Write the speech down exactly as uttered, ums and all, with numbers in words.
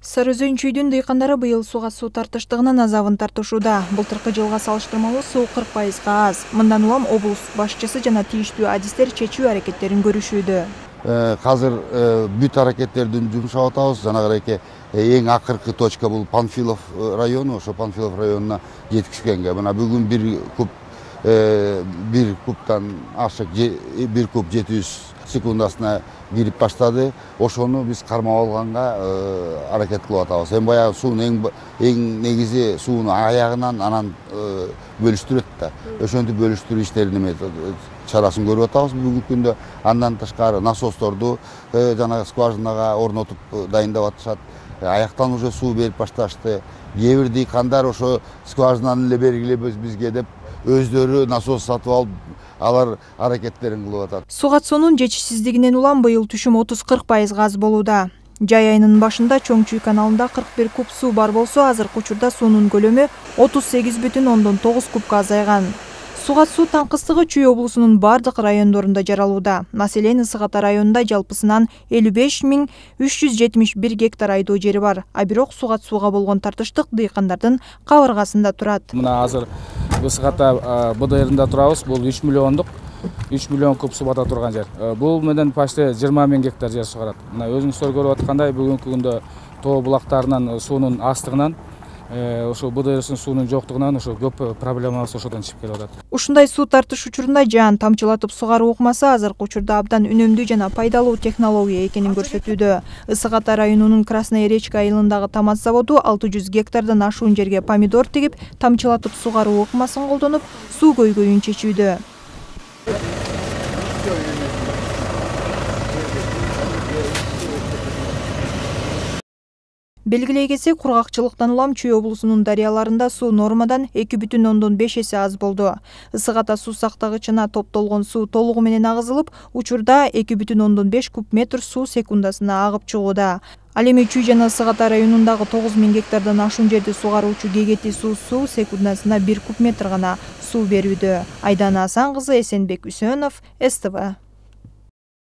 Сары Өзөн чүйдүн дыйкандары быйыл суга суу тартыштыгынын азабын тартышууда. Былтыркы жылга салыштырмалуу суу кырк пайызга аз. Мындан улам облус башчысы жана тийиштүү адистер чечүү аракеттерин көрүшүүдө. Азыр бүт аракеттердин жумшап атабыз. Жанагы эке эң акыркы точка бул Панфилов району, ошо Панфилов районуна жеткизгенге. Мына бүгүн бир куб бир кубтан ашык бир куб жети жүз секундасына кирип баштады. Ошону биз кармап алганга аракет кылып атабыз. Эми баягы суунун эң негизи сууну аягынан анан бөлүштүрөт да. Ошентип бөлүштүрүү иштерин чарасын көрүп атабыз бүгүнкү күндө. Андан тышкары насосторду жана скважинага орнотуп дайындап атышат. Аяктан уже суу берип башташты. Кээ бир дыйкандар ошо скважинаны эле бергиле бизге деп өздөрү насос сатып алып алар аракеттерин кылып атат. Суу катуусунун жетишсиздигинен улам быйыл түшүм отуз кырк пайызга аз болууда. Жай айынын башында Чоң Чүй каналында кырк бир куб суу бар болсо, азыркы учурда суунун көлөмү отуз сегиз бүтүн ондон тогуз кубка азайган. Суу катуусу таңкыстыгы Чүй облусунун бардык райондорунда жаралууда. Маселен, Ысык Ата районунда жалпысынан элүү беш миң үч жүз жетимиш бир гектар айдоо жери бар. А бирок суу катуусуга болгон тартыштык дыйкандардын кабыргасында турат. Мына азыр Ысык Ата Б Д Р'ында турабыз. Бул үч миллиондук үч миллион куб суу бата турган жер. Бул менен почти жыйырма миң гектар жер сугарат. Мына өзүңүздөр көрүп аткандай бүгүнкү күндө тоо булактарынын суунун аздыгынан, ошо Б Д Р'сынын суунун жоктугунан ошо көп проблемабыз ошодон чыгып келип атат. Ушундай суу тартыш учурунда жаан тамчылатып сугаруу ыкмасы азыркы учурда абдан үнөмдүү жана пайдалуу технология экенин көрсөтүүдө. Ысык Ата районунун Красная Речка айылындагы ТАМАЗ заводу алты жүз гектардан ашуун жерге помидор тигип, тамчылатып сугаруу ыкмасын колдонуп, суу көйгөйүн чечүүдө. Белгилей кетсек, кургакчылыктан улам Чүй облусунун дарыяларында суу нормадан эки бүтүн ондон беш эсе аз болду. Ысык Ата суу сактагычына топтолгон суу толугу менен агызылып, учурда эки бүтүн ондон беш куб метр суу секундасына агып чыгууда. Ал эми Чүй жана Ысык Ата районундагы тогуз миң гектардан ашуун жерди сугаруучу Кегети суу суу секундасына бир куб метр гана суу берүүдө. Айдана Асан кызы, Эсенбек Үсөнов, С Т В.